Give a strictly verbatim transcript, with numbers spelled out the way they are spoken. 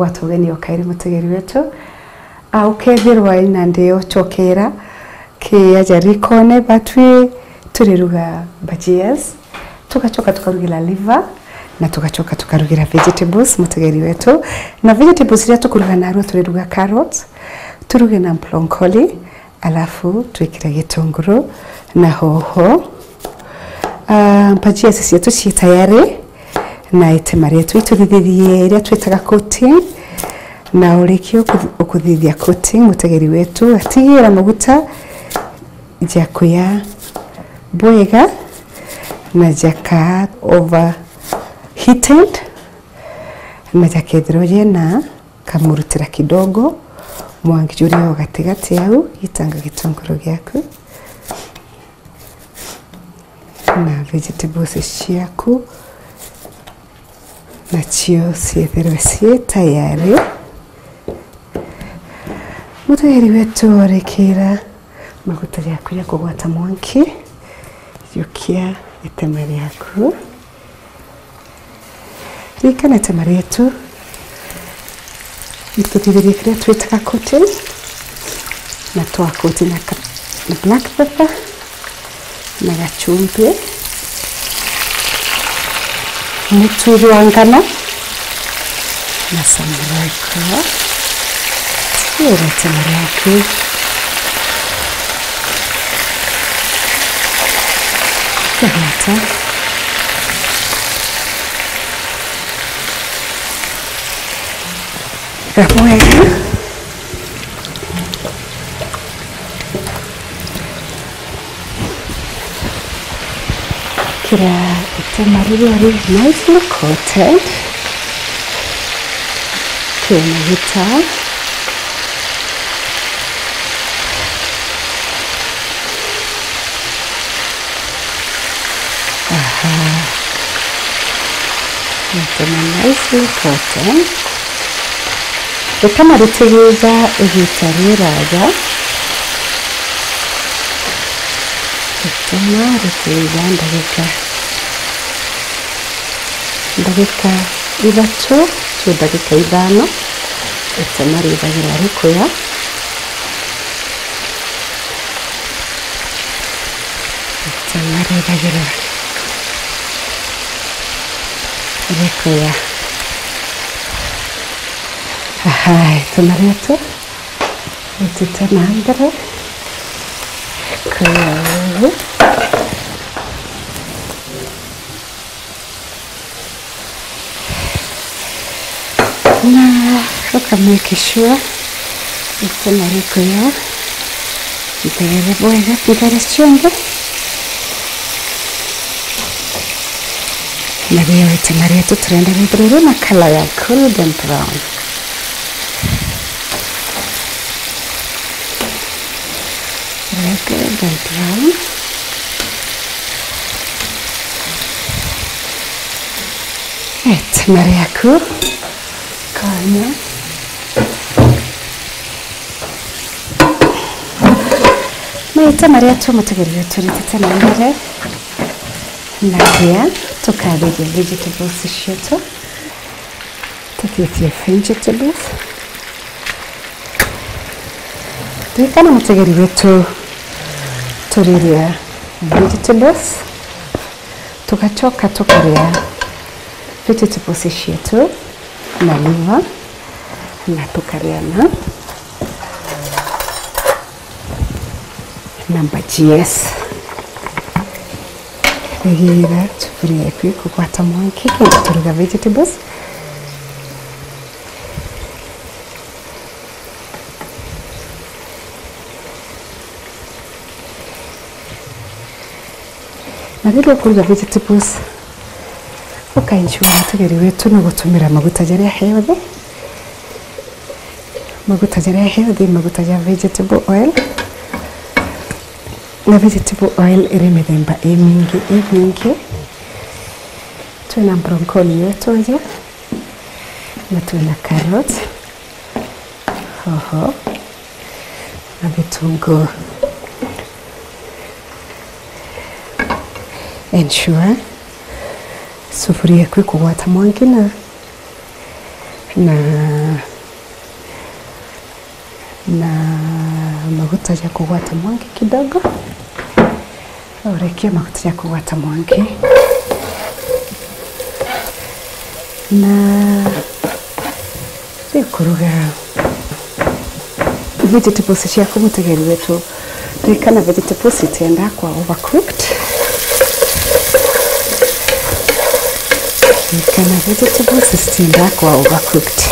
Gwata ugeni o kairi mutegeri wetu. A, ukethirwa ina ndio chokera ki aja rikone, batwi turiruga bhajias, tugachoka tukarugira liver, na tugachoka tukarugira vegetables, mutegeri wetu. Na vegetables iria tukuruga narua, turiruga carrot, turuge na broccoli, alafu twikire gitunguru na hoho. Ah, bhajias cietu cii tayari, na itema rietu ituthithirie iria twitaga coating, na urikia ukuth-, ukuthithia coating, mutegeri wetu atigira maguta jakuya bwega na jaka overheated, na jakethirwa jena kamurutira kidogo, mwangi juria o gatigati au, gitanga gitunguru giaku na vegetables ciaku, nacio ciethirwe cii tayari. Mutegeri wetu, orikira maguta jaku ja kugwata mwanki, jukia itema riaku. Ririkana itema rietu, ituthithirie kiria twitaga coating, na twa coat na ka-, na black pepper, na gachumbi, mutu jwa ngano, na some Royco. Tigirite maria aku. Kugwata. Wega. Kira itema riria ri nicely coated. Kina maguta. Aha. Itema nicely coated. Itema ritigiiga igita riraja. Itema ritigiiga ndagika, ndagika ithatu to ndagika ithano. Itema rithagirwa rikuya. Itema rithagirwa rikuya. Aha, itema rietu ritite na mbere. Rikuya uu. Na uka make sure itema rikuya ntere bwega, ntere cionthe. Na rio itema rietu turenda rithire rina colour ya golden brown. Reke ndontwau. Itema riaku. Konya. Na itema riaku mutegeri wetu ritite na mbere. Na ria tukathithia vegetables cietu. Tutitie vegetables. Ririkana mutegeri wetu, turiria vegetables, tugacoka tukaria vegetables cietu na liver, na tukaria na na bhajias. Rigira sufuria yaku ikugwata mwanki, kenda turuga vegetables. Na riria ukuruga vegetables, uka ensure mutegeri wetu ni gutumira maguta jaria healthy. Maguta jaria healthy, maguta ja vegetable oil. Na vegetable oil iri mithemba imingi, imingi. Twina broccoli yetu aja, na twina carrot, hoho, na vitunguu. Ensure sufuria yaku ikugwata mwanki na, na Na maguta ja kugwata mwanki kidogo. Urekia maguta ja kugwata mwanki. Na riu kuruga vegetables ciaku, mutegeri wetu, ririkana vegetables itiendaa kwa overcooked. Ririkana vegetables itiendaa kwa overcooked.